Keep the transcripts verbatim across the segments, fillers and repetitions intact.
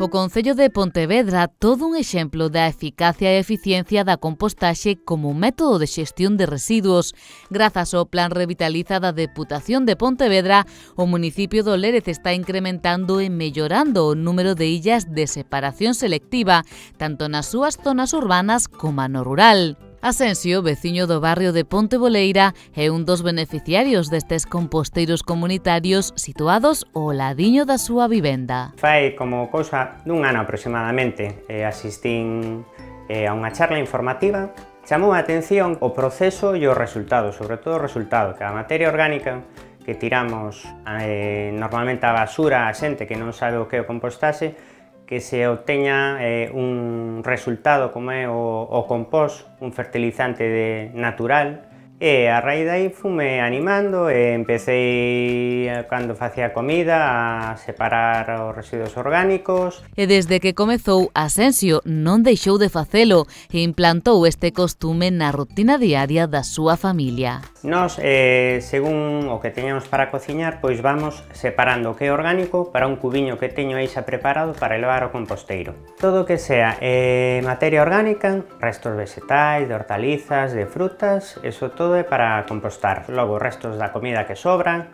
O Concello de Pontevedra, todo un exemplo da eficacia e eficiencia da compostaxe como método de xestión de residuos. Grazas ao Plan Revitaliza da Deputación de Pontevedra, o municipio do Lérez está incrementando e mellorando o número de illas de separación selectiva, tanto nas súas zonas urbanas como no rural. Asensio, veciño do barrio de Ponte Boleira, é un dos beneficiarios destes composteiros comunitarios situados ao ladiño da súa vivenda. Fai como cousa dun ano aproximadamente, eh, asistín eh, a unha charla informativa. Chamou a atención o proceso e o resultado, sobre todo o resultado, que a materia orgánica que tiramos eh, normalmente a basura a xente que non sabe o que é o compostaxe, que se obteña eh, un resultado como é o, o compost, un fertilizante de, natural, e a raíz dai fume animando e empecé, cando facía comida, a separar os residuos orgánicos. E desde que comezou, Asensio non deixou de facelo e implantou este costume na rutina diaria da súa familia. Nós, eh, según o que teñamos para cociñar, pois vamos separando o que é orgánico para un cubiño que teño aí xa preparado para levar ao composteiro. Todo o que sea eh, materia orgánica, restos vegetais, de hortalizas, de frutas, eso todo é para compostar. Logo, restos da comida que sobra,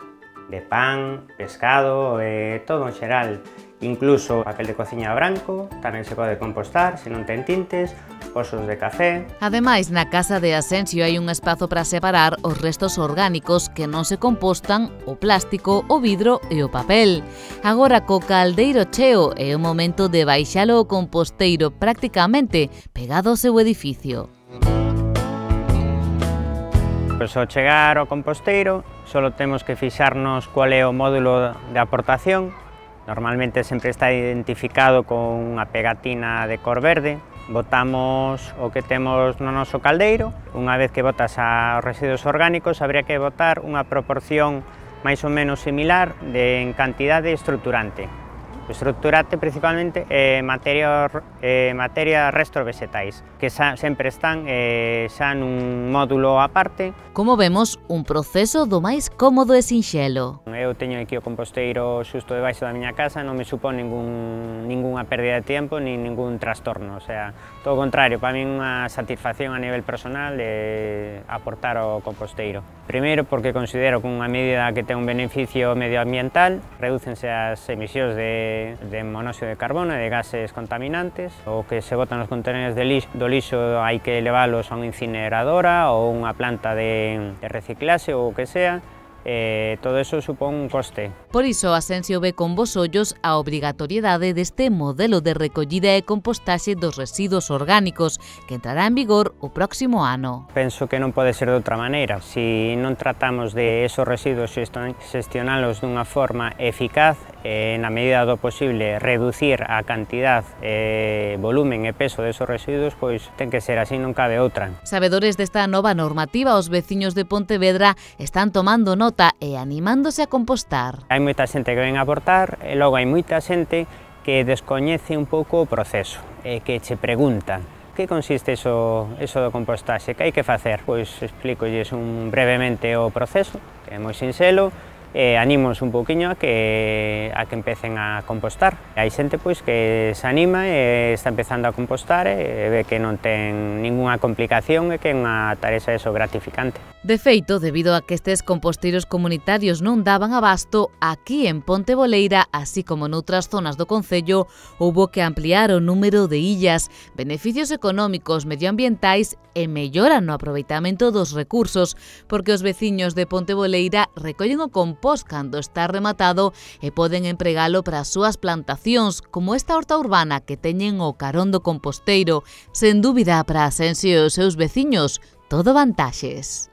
de pan, pescado, eh, todo en xeral, incluso papel de cociña branco, tamén se pode compostar se non ten tintes, osos de café. Ademais, na casa de Asensio hai un espazo para separar os restos orgánicos que non se compostan, o plástico, o vidro e o papel. Agora, co caldeiro cheo, é o momento de baixalo ao composteiro prácticamente pegado ao seu edificio. Pois ao chegar ao composteiro, só temos que fixarnos cual é o módulo de aportación. Normalmente sempre está identificado con unha pegatina de cor verde. Botamos o que temos no noso caldeiro. Unha vez que botas os residuos orgánicos, habría que botar unha proporción máis ou menos similar de en cantidade estruturante. O estruturante principalmente é eh, materia, eh, materia restos vegetais, que xa, sempre están eh, xa nun módulo aparte. Como vemos, un proceso do máis cómodo e sinxelo. Eu teño aquí o composteiro xusto debaixo da miña casa, non me supón ningún, ningunha pérdida de tempo, nin ningún trastorno, o sea, todo o contrario, para mí unha satisfacción a nivel personal de aportar ao composteiro. Primeiro porque considero que unha medida que ten un beneficio medioambiental, redúcense as emisións de, de monóxido de carbono e de gases contaminantes, o que se botan nos contenedores de lixo, do lixo hai que leválos a unha incineradora ou unha planta de, de reciclaxe ou o que sea. Eh, todo eso supón un coste. Por iso, Asensio ve con bos ollos a obrigatoriedade deste modelo de recollida e compostaxe dos residuos orgánicos que entrará en vigor o próximo ano. Penso que non pode ser de outra maneira. Si non tratamos de esos residuos xestionalos dunha forma eficaz, eh, na medida do posible reducir a cantidad, eh, volumen e peso desos residuos, pois ten que ser así, non cabe outra. Sabedores desta nova normativa, os veciños de Pontevedra están tomando nota e animándose a compostar. Hai moita xente que ven a aportar e logo hai moita xente que descoñece un pouco o proceso e que che pregunta que consiste eso, eso do compostaxe, que hai que facer? Pois explícolles un brevemente o proceso, que é moi sinxelo, e animos un pouquiño a que, a que empecen a compostar. Hai xente pois que se anima e está empezando a compostar e ve que non ten ningunha complicación e que é unha tarefa eso gratificante. De feito, debido a que estes composteiros comunitarios non daban abasto, aquí en Ponte Boleira, así como noutras zonas do concello, houbo que ampliar o número de illas, beneficios económicos, medioambientais e mellora no aproveitamento dos recursos, porque os veciños de Ponte Boleira recollen o compost cando está rematado e poden empregalo para as súas plantacións, como esta horta urbana que teñen o carón do composteiro. Sen dúbida, para Asensio e os seus veciños, todo vantaxes.